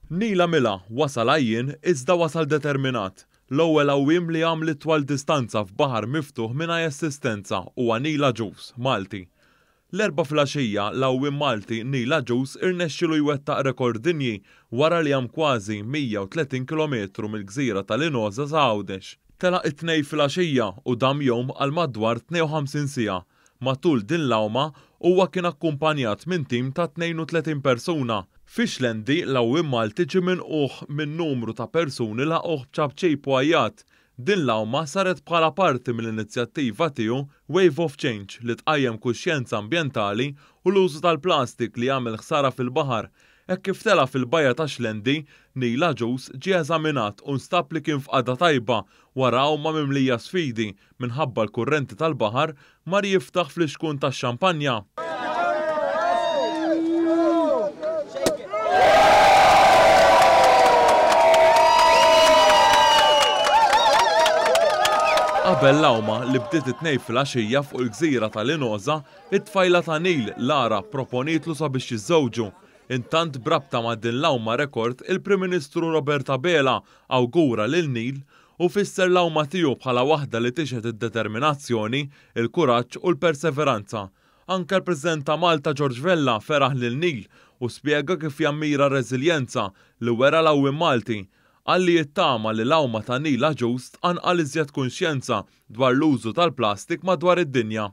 Neil għamilha, wasal għajjien iżda wasal determinat. L-ewwel għawwiem li għam l-itwal distanza f'baħar miftuħ mingħaj assistenza huwa Neil Agius, Malti. L-Erbgħa filgħaxija, l-għawwiem Malti Neil Agius irnexxielu jwettaq rekord dinji wara li għam kważi 130 kilometru mill-gżira ta' Linosa sa Għawdex. Telaq it-Tnejn filgħaxija u dam jgħum għal madwar 52 siegħa. Matul din l-għawma, huwa kien akkumpanjat minn tim ta' 32 persuna. Fi Xlendi, l-għawwiem Malti ġie minqugħ minn numru ta' persuni laqgħuh b'ċapċip u għajjat. Din l-għawma saret bħala parti mill-inizjattiva tiegħu Wave of Change li tqajjem kuxjenza ambjentali u l-użu tal-plastik li jagħmel ħsara fil-baħar. Hekk kif tela' fil-bajja ta' Xlendi, Neil Agius ġie eżaminat u nstab li kien f'qagħda tajba wara għawma mimlija sfidi minħabba l-kurrenti tal-baħar mar jiftaħ flixkun tax-xampanja. Qabel l-għawma li bdiet it-Tnejn filgħaxija fuq il-gżira ta' Linosa, it-tfajla ta' Neil, Lara, pproponietlu sabiex jiżżewġu. Intant b'rabta ma' din l-għawma rekord, il-Prim Ministru Robert Abela awgura lil Neil Hu fisser l-għawma tiegħu bħala waħda li tixhed id-determinazzjoni, il-kuraġġ u l-perseveranza. Anke l-President ta' Malta George Vella feraħ lil Neil u spjega kif jammira r-reżiljenza li wera l-għawwiem Malti. Qal li jittama li l-għawma ta' Neil Agius tqanqal iżjed kunxjenza dwar l-użu tal-plastik madwar id-dinja.